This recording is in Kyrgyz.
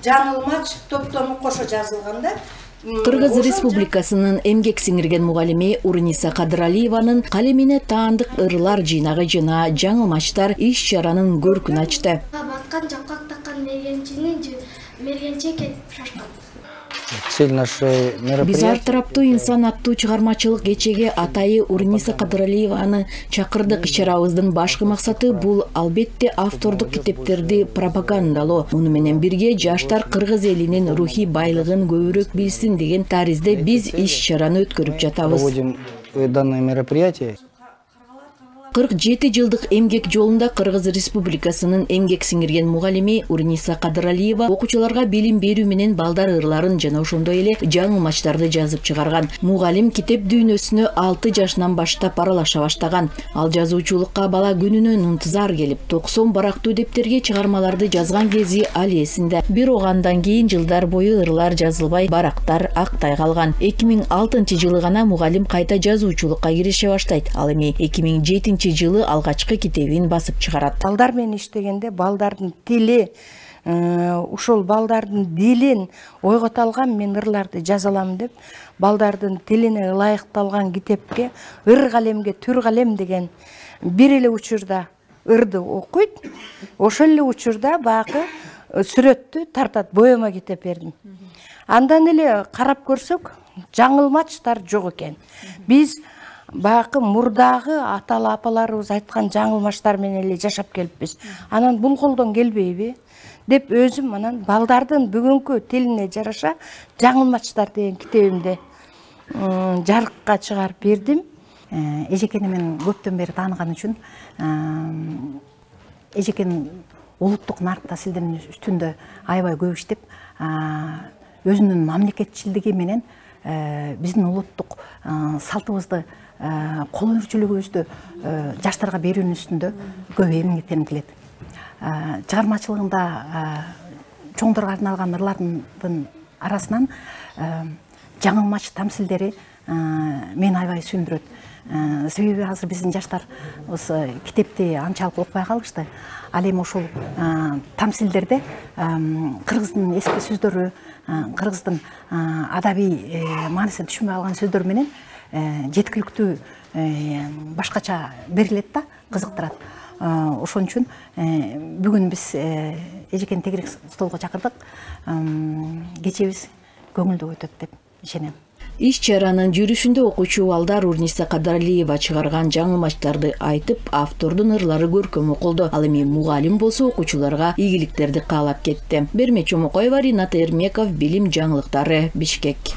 жаңылмач топтому кошо жазылганда. Кыргыз Республикасынын эмгек сиңирген мугалими Уруниса Кадыралиеванын калемине таандык ырлар жыйнагы жана жаңылмачтар иш-чаранын көркүн ачты. Баткан жапкак таккан мергенче кетип шашкан. Биз ар тараптуу инсан аттуу чыгармачылык кечеге атайы Уруниса Кадыралиеваны чакырдык. Иш-чарабыздын башкы максаты бул албетте автордук китептерди пропагандалоо. Муну менен бирге жаштар кыргыз элинин рухий байлыгын көбүрөөк билсин деген таризде биз иш-чараны өткөрүп жатабыз. Данное мероприятие 47 жылдык эмгек жолунда Кыргыз Республикасынын эмгек сиңирген мугалими Уруниса Кадыралиева окуучуларга билим берүү менен балдар ырларын жана ошондой эле жаңылмачтарды жазып чыгарган. Мугалим китеп дүйнөсүнө 6 жашынан баштап аралаша баштаган. Ал жазуучулукка бала күнүнөн ынтызар келип, 90 барактуу дептерге чыгармаларды жазган кези ал эсинде. Бирок андан кийин жылдар бою ырлар жазылбай, барактар актай калган. 2006 гана мугалим кайта жазуучулукка кирише баштайт. Ал эми 2007 жылы алгачкы китебин басып чыгарат. Балдар менен иштегенде балдардын тили, ушул балдардын дилин ойгото алган мен ырларды жаза алам деп, балдардын тилине ылайыкталган китепке ыр калемге түр калем деген бир эле учурда ырды окуйт, ошол эле учурда багы сүрөттү тартат, боема китеп бердим. Андан эле карап көрсөк, жаңылмачтар жок экен. Биз бакы мурдагы аталы апаларыбыз айткан жаңылмаштар менен эле жашап келиппиз. Анан бул колдон келбейби деп өзүм анан балдардын бүгүнкү тилине жараша жаңылмачтар деген китебимди жарыкка чыгарып бердим. Эжекени мен көптөн бери тааныган үчүн эжекен улуттук нарк тасилдердин үстүндө аябай көп иштеп, өзүнүн мамлекетчилдиги менен биздин улуттук салтыбызды колөнүүчүлүгүбүздү жаштарга берүүнүн үстүндө көп эмгектенип келет. Чыгармачылыгында чоңдорго арналган ырлардын арасынан жаңылмач тамсилдери мени аябай сүйүндүрөт. Себеби азыр биздин жаштар китепти анчалык окубай калышты. Ал эми ушул тамсилдерде кыргыздын эски сөздөрү, кыргыздын адабий маанисин түшүнбөй калган сөздөр менен жеткиликтүү башкача берилет да, кызыктырат. Ошон үчүн бүгүн биз эжекен тегерек столго чакырдык. Кечебиз көңүлдүү өтөт деп ишенем. Иш-чаранын жүрүшүндө окуучу балдар Уруниса Кадыралиева чыгарган жаңылмачтарды айтып, автордун ырлары көркөм окулду. Ал эми мугалим болсо окуучуларга ийгиликтерди каалап кетти. Берме Чомокоева, Ринат Эрмеков, Билим жаңылыктары, Бишкек.